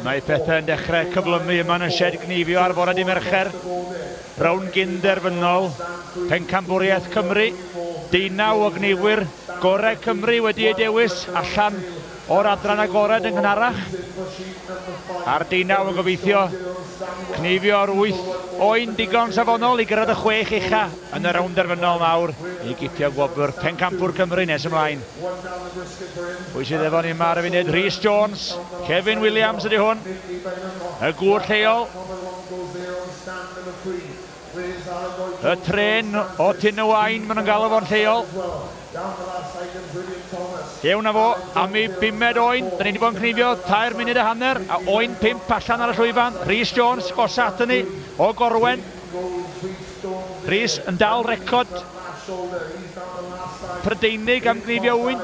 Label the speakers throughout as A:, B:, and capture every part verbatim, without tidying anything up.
A: Mae pethau yn dechrau cyflymu yma yn y sied gneifio ar fore dydd Mercher. Rownd gynderfynol, Pencampwriaeth Cymru. Deunaw o gneifwyr gorau Cymru wedi eu dewis allan o'r adran agored yn gynharach. A'r deunaw yn gobeithio cneifio'r wyth oen digon safonol i gyrraedd y chwech ucha yn y rownd derfynol mawr i gipio gwobr Pencampwr Cymru nes ymlaen. Pwy sydd efo ni yma ar y funud? Rhys Jones, Kevin Williams ydy hwn, y gŵr lleol. Y tren o Tyn y Wain, maen nhw'n galw fo'n lleol. Fewn â fo am ei bumed oen. Da ni wedi bod yn cneifio tair munud a hanner, a oen pump allan ar y llwyfan. Rhys Jones, gosa at ni o Gorwen. Rhys yn dal record Prydeinig am gneifio ŵyn.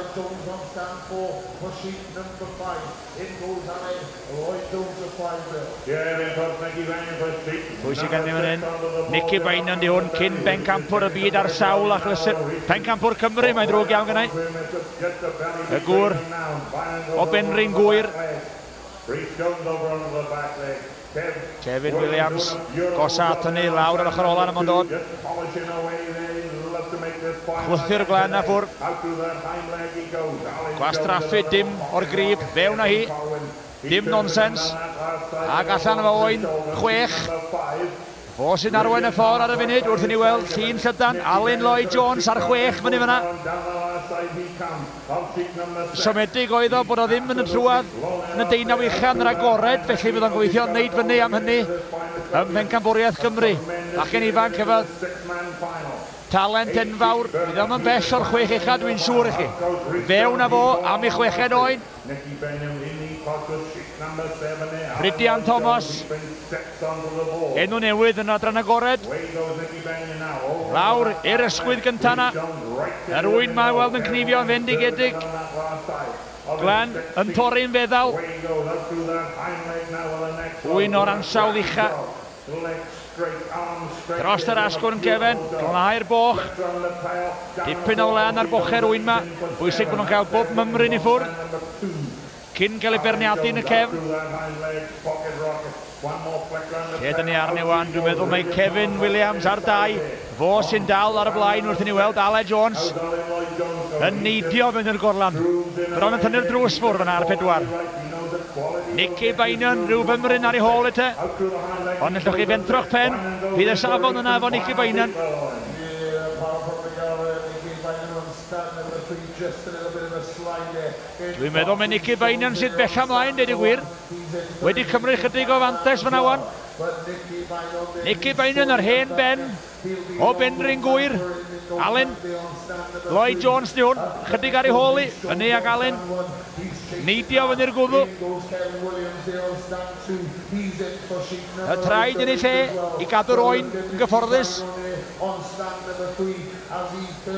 A: Pwy sydd gen i fan hyn? Nicky Beynon di hwn, cyn bencampwr y byd ar sawl achlysur. Pencampwr Cymru, mae'n ddrwg iawn gennau. Y gŵr o Benrhyn Gŵyr. Kevin Williams, gosa at hynny, lawr ar ochr ola am dod. Chwythu'r glen a ffwrdd. Gwastraffu dim o'r grib, fewn â hi. Dim nonsens. Ac allan efo oen chwech. Fo sy'n arwain y ffordd ar y funud wrth i ni weld llun llydan. Alun Lloyd Jones ar chwech fyny fyna. Siomedig oedd o bod o ddim yn y trwad yn y deunaw ucha yn yr agored, felly fydd o'n gobeithio wneud fyny am hynny ym Mhencampwriaeth Cymru. Bachgen ifanc efo talent enfawr, fydd o'm yn bell o'r chwech ucha dwi'n siŵr i chi. Fewn â fo am ei chweched oen. Rhydian Thomas, enw newydd yn adran agored. Lawr i'r ysgwydd gynta na. Yr ŵyn mae weld yn cneifio yn fendigedig. Glenn yn torri'n feddal. Ŵyn o'r ansawdd ucha. Dros yr asgwrn cefen, glanhau'r boch. Dipyn o wlân ar bochau'r ŵyn ma. Bwysig bod nhw'n cael bob mymryn i ffwrdd cyn cael ei berniadu yn y cefn. Lle dyn ni arni wan, dwi'n meddwl mae Kevin Williams ar dau. Fo sy'n dal ar y blaen wrth i ni weld Aled Jones yn neidio fynd i'r gorlan. Bron yn tynnu'r drws ffwrdd yna ar pedwar. Nicky Beynon, rhyw fymryn ar ei hôl i te. Ond allwch chi fentro'ch pen, bydd y safon yna efo Nicky Beynon. Dwi'n meddwl mae Nicky Beynon sydd bell ymlaen, deud y gwir. Wedi cymryd chydig o fantais fyna wan. Nicky Beynon ar hen ben o Benrhyn Gŵyr. Alun Lloyd Jones di hwn, chydig ar ei hôl i, fyny ag Alun. Neidio fyny'r gwddw. Y traed yn ei lle i gadw'r oen yn gyfforddus.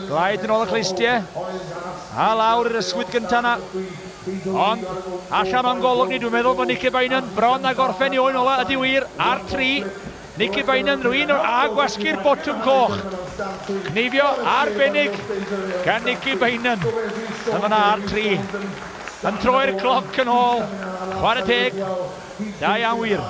A: Glaid yn ôl y clustiau. A lawr i'r ysgwydd gynta na. Ond allan o'n golwg ni, dwi'n meddwl bod Nicky Beynon bron a gorffen i oen ola ydy wir ar tri. Nicky Beynon rwy'n o'r a gwasgu'r botwm coch. Cneifio arbennig gan Nicky Beynon. Yn fanna ar tri. Yn troi'r cloc yn ôl. Chwarae teg. Da iawn wir.